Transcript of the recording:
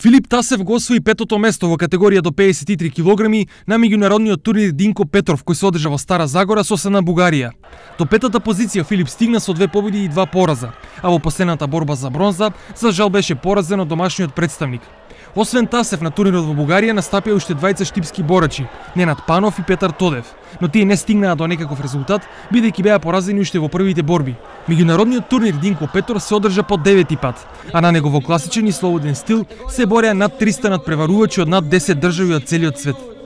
Филип Тасев го освои петото место во категорија до 53 килограми на меѓународниот турнир Динко Петров кој се одржа во Стара Загора со се на Бугарија. До петата позиција Филип стигна со 2 победи и 2 пораза, а во последната борба за бронза за жал беше поразен од домашниот представник. Освен Тасев на турнирот во Бугарија настапија уште двајца штипски борачи, Ненад Панов и Петар Тодев, но тие не стигнаа до некаков резултат бидејќи беа поразени уште во првите борби. Меѓународниот турнир Динко Петров се одржа по 9-ти пат, а на него во класичен и слободен стил се бореа над 300 надпреварувачи од над 10 држави од целиот свет.